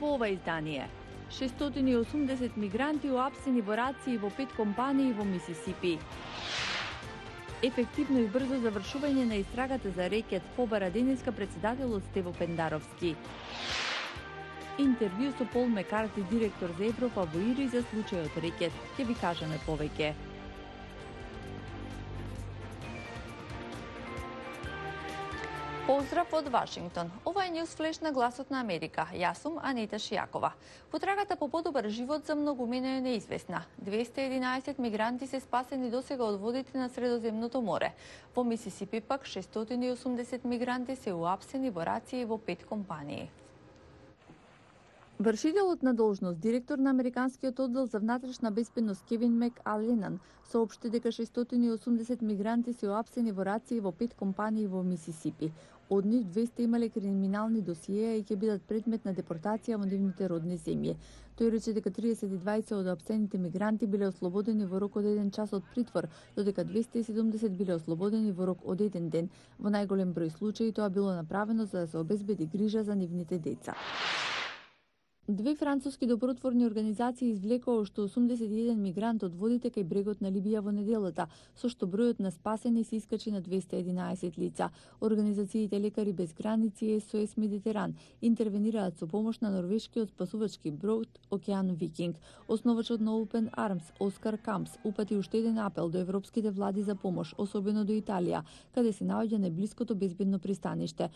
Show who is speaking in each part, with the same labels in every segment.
Speaker 1: во ова издание. 680 мигранти уапсени во рации во 5 компании во Мисисипи. Ефективно и брзо завршување на истрагата за рекет побара денеска председателот Стево Пендаровски. Интервју со Пол Мекарти, директор за Европа во ИРИ за случајот рекет. Ќе ви кажеме повеќе.
Speaker 2: Поздрав од Вашингтон. Ова е Ньюсфлеш на Гласот на Америка. Јас сум Анита Шијакова. Потрагата по подобар живот за многумина е неизвестна. 211 мигранти се спасени досега од водите на Средоземното море. Во Мисисипи пак 680 мигранти се уапсени во рации во 5 компании.
Speaker 1: Вршителот на должност, директор на Американскиот оддел за внатрешна безбедност Кевин Мек-Аленан, соопшти дека 680 мигранти се уапсени во рации во 5 компании во Мисисипи. Од нив 200 имале криминални досиеа и ќе бидат предмет на депортација во нивните родни земји. Тој рече дека 32 од уапсените мигранти биле ослободени во рок од 1 час од притвор, додека 270 биле ослободени во рок од 1 ден. Во најголем број случаи тоа било направено за да се обезбеди грижа за нивните деца. Две француски добротворни организации извлекоа уште 81 мигрант од водите кај брегот на Либија во неделата, со што бројот на спасени се искачи на 211 лица. Организациите Лекари без граници и СОС Медитеран интервенираат со помош на норвешкиот спасувачки брод Океан Викинг. Основачот на Open Arms, Оскар Кампс, упати уште еден апел до европските влади за помош, особено до Италија, каде се наоѓа најблиското безбедно пристаниште.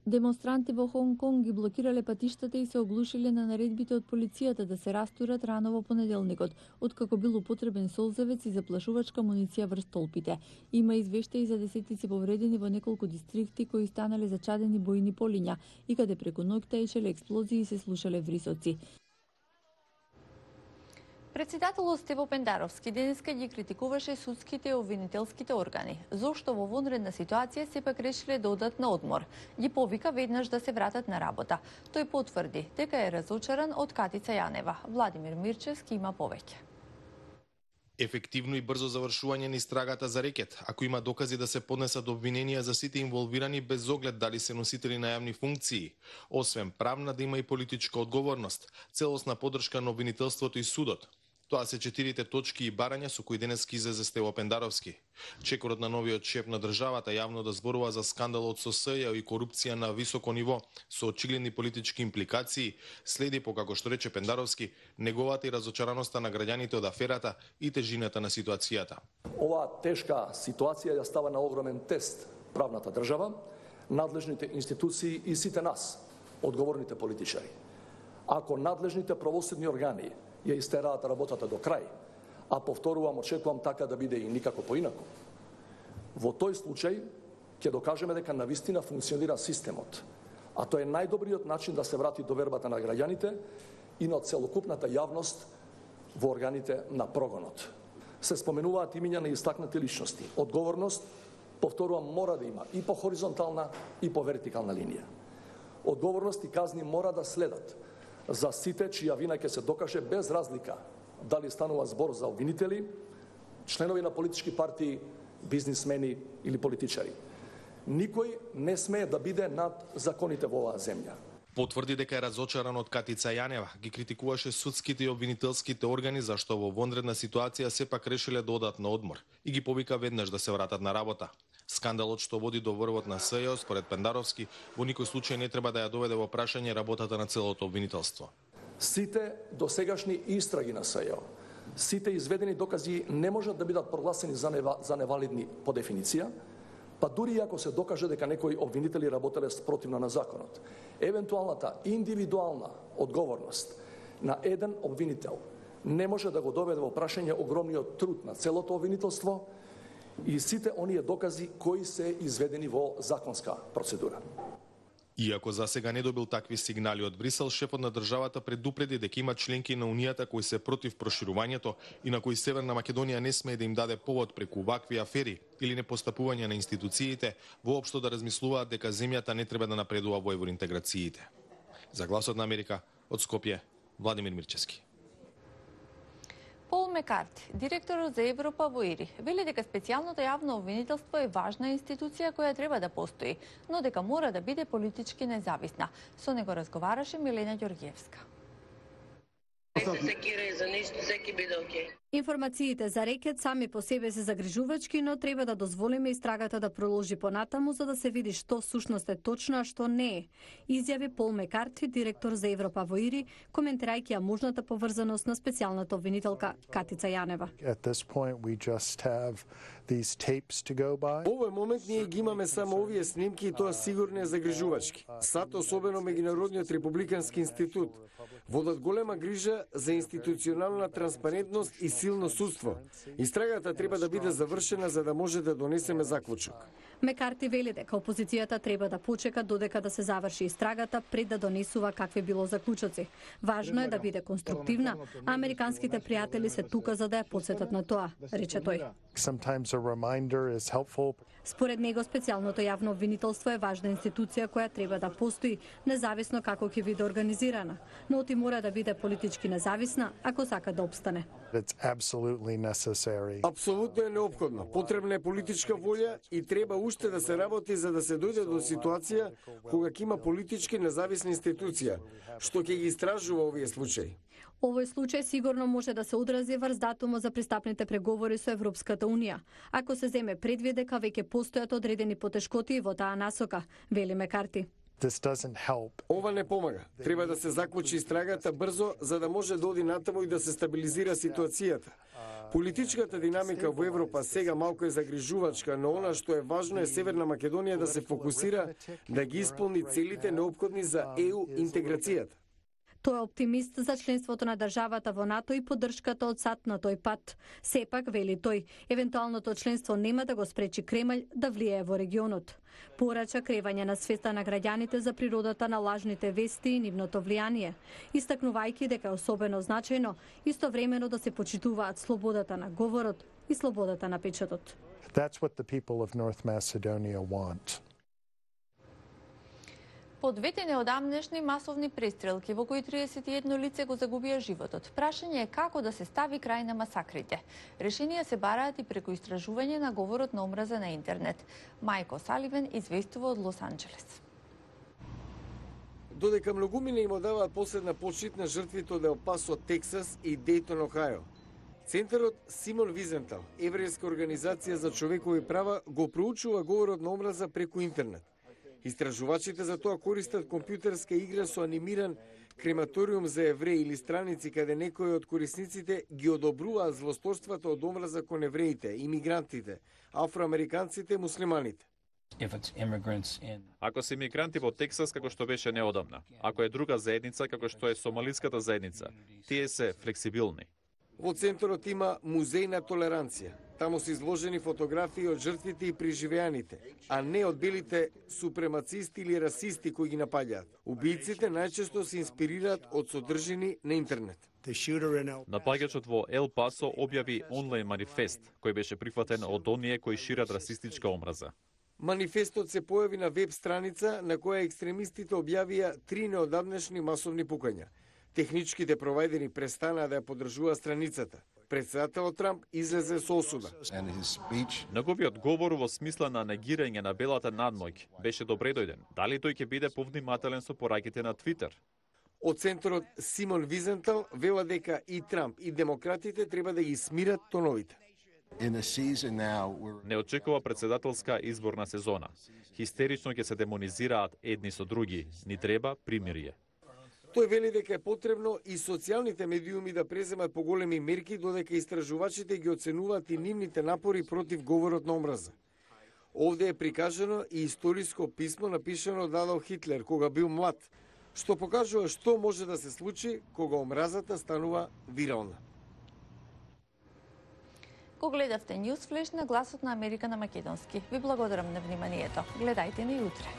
Speaker 1: Демонстранти во Хонг Конг ги блокирале патиштата и се оглушиле на наредбите од полицијата да се растурат рано во понеделникот, откако бил употребен солзевец и заплашувачка муниција врз столпите. Има извештаи за десетици повредени во неколку дистрикти кои станале зачадени бојни полиња и каде преку ноќ таечеле експлозии и се слушале врисоци.
Speaker 2: Председателот Стево Пендаровски денеска ги критикуваше судските и обвинителските органи. Зошто во вонредна ситуација сепак решиле да одат на одмор. Ги повика веднаш да се вратат на работа. Тој потврди дека е разочаран од Катица Јанева. Владимир Мирчевски има повеќе.
Speaker 3: Ефективно и брзо завршување на истрагата за рекет, ако има докази да се поднесат обвиненија за сите инволвирани без оглед дали се носители на јавни функции. Освен правна да има и политичка одговорност, целосна поддршка на обвинителството и судот. Тоа се 4 точки и барања со кои денес излезе Стево Пендаровски. Чекорот на новиот шеф на државата јавно да зборува за скандалот со СЈ и корупција на високо ниво со очигледни политички импликации следи по, како што рече Пендаровски, неговата и разочараноста на граѓаните од аферата и тежината на ситуацијата.
Speaker 4: Ова тешка ситуација ја става на огромен тест правната држава, надлежните институции и сите нас, одговорните политичари. Ако надлежните правосудни органи ја истераат работата до крај, а повторувам, очекувам така да биде и никако поинаку. Во тој случај ќе докажеме дека навистина функционира системот, а тоа е најдобриот начин да се врати довербата на граѓаните и на целокупната јавност во органите на прогонот. Се споменуваат имиња на истакнати личности. Одговорност, повторувам, мора да има и по хоризонтална и по вертикална линија. Одговорност и казни мора да следат за сите чија вина ќе се докаже без разлика дали станува збор за обвинители, членови на политички партии, бизнисмени или политичари. Никој не смее да биде над законите во оваа земја.
Speaker 3: Потврди дека е разочаран од Катица Јанева, ги критикуваше судските и обвинителските органи зашто во вонредна ситуација сепак решиле да одат на одмор и ги повика веднаш да се вратат на работа. Скандалот што води до врвот на СЈ, според Пендаровски, во никој случај не треба да ја доведе во прашање работата на целото обвинителство.
Speaker 4: Сите досегашни истраги на СЈ, сите изведени докази не можат да бидат прогласени за невалидни по дефиниција, па дури и ако се докаже дека некои обвинители работеле спротивно на законот. Евентуалната индивидуална одговорност на еден обвинител не може да го доведе во прашање огромниот труд на целото обвинителство и сите оние докази кои се изведени во законска процедура.
Speaker 3: Иако за сега не добил такви сигнали од Брисел, шефот на државата предупреди дека има членки на Унијата кои се против проширувањето и на кои Северна Македонија не смее да им даде повод преку вакви афери или непостапување на институциите, воопшто да размислуваат дека земјата не треба да напредува во евроинтеграциите. За Гласот на Америка, од Скопје, Владимир Мирчевски.
Speaker 2: Пол Мекарти, директорот за Европа во ИРИ, вели дека специјалното јавно обвинителство е важна институција која треба да постои, но дека мора да биде политички независна. Со него разговараше Милена Ѓорѓиевска.
Speaker 5: За нешто секи биде окей.
Speaker 6: Информациите за рекет сами по себе се загрижувачки, но треба да дозволиме истрагата да продолжи понатаму за да се види што сушност е точно, а што не е. Изјави Пол Мекарти, директор за Европа во ИРИ, коментирајќи ја можната поврзаност на специјалната обвинителка Катица Јанева.
Speaker 7: Во овој момент ние ги имаме само овие снимки и тоа сигурно е загрижувачки. САД, особено Меѓународниот републикански институт, водат голема грижа за институционална транспарентност и силно судство. Истрагата треба да биде завршена за да може да донесеме заклучок.
Speaker 6: Мекарти вели дека опозицијата треба да почека додека да се заврши истрагата пред да донесува какви било заклучоци. Важно е да биде конструктивна, а американските пријатели се тука за да ја потсетат на тоа, рече тој. Според него, специјалното јавно обвинителство е важна институција која треба да постои, независно како ќе биде организирана, но оти мора да биде политички независна ако сака да опстане.
Speaker 7: Апсолутно е неопходно. Потребна е политичка волја и треба уште да се работи за да се дојде до ситуација кога ќе има политички независна институција, што ќе ги истражува овие случаи.
Speaker 6: Овој случај сигурно може да се одрази врз датумот за пристапните преговори со Европската Унија, ако се земе предвид дека веќе постојат одредени потешкоти во таа насока, вели Мекарти.
Speaker 7: Ова не помага. Треба да се заклучи истрагата брзо за да може да оди натаму и да се стабилизира ситуацијата. Политичката динамика во Европа сега малку е загрижувачка, но она што е важно е Северна Македонија да се фокусира да ги исполни целите неопходни за ЕУ интеграцијата.
Speaker 6: Тој е оптимист за членството на државата во НАТО и поддршката од САД на тој пат. Сепак, вели тој, евентуалното членство нема да го спречи Кремљ да влијае во регионот. Порача кревање на свеста на граѓаните за природата на лажните вести и нивното влијание, истакнувајќи дека е особено значајно истовремено да се почитуваат слободата на говорот и слободата на печатот.
Speaker 8: That's what the people of North Macedonia want.
Speaker 2: Подветени одамнешни масовни престрелки во кои 31 лице го загубија животот. Прашање е како да се стави крај на масакрите. Решенија се бараат и преку истражување на говорот на омраза на интернет. Мајко Саливен известува од Лос Анџелес.
Speaker 7: Додека многумина им одаваат последна почит на жртвите од Ел Пасо, Тексас и Дејтон, Охајо. Центарот Симон Визентал, еврејска организација за човекови права, го проучува говорот на омраза преку интернет. Истражувачите за тоа користат компјутерска игра со анимиран крематориум за евреи или страници каде некои од корисниците ги одобруваат злосторствата од омраза кон евреите, имигрантите, афроамериканците, муслиманите.
Speaker 9: Ако се имигранти во Тексас, како што беше неодамна, ако е друга заедница, како што е сомалиската заедница, тие се флексибилни.
Speaker 7: Во центарот има музеј на толеранција. Таму се изложени фотографии од жртвите и преживеаните, а не од белите супремацисти или расисти кои ги напаѓаат. Убијците најчесто се инспирираат од содржини на интернет.
Speaker 9: Напаѓачот во Ел Пасо објави онлайн манифест, кој беше прифатен од оние кои шират расистичка омраза.
Speaker 7: Манифестот се појави на веб страница на која екстремистите објавија 3 неодамнешни масовни пукања. Техничките провајдери престанаа да ја поддржуваат страницата. Претседателот Трамп излезе со осуда.
Speaker 9: Неговиот говор во смисла на негирање на белата надмоќ беше добредојден. Дали тој ќе биде повнимателен со пораките на Твитер?
Speaker 7: Од центарот Симон Визентал вела дека и Трамп и демократите треба да ги смират тоновите.
Speaker 9: Не очекува претседателска изборна сезона. Хистерично ќе се демонизираат едни со други. Ни треба примирие.
Speaker 7: Тој вели дека е потребно и социјалните медиуми да преземат поголеми мерки, додека истражувачите ги оценуваат и нивните напори против говорот на омраза. Овде е прикажано и историско писмо напишано од Адолф Хитлер кога бил млад, што покажува што може да се случи кога омразата станува вирална.
Speaker 2: Го гледавте Ньюс Флеш на Гласот на Америка на македонски. Ви благодарам на вниманието. Гледајте ни утре.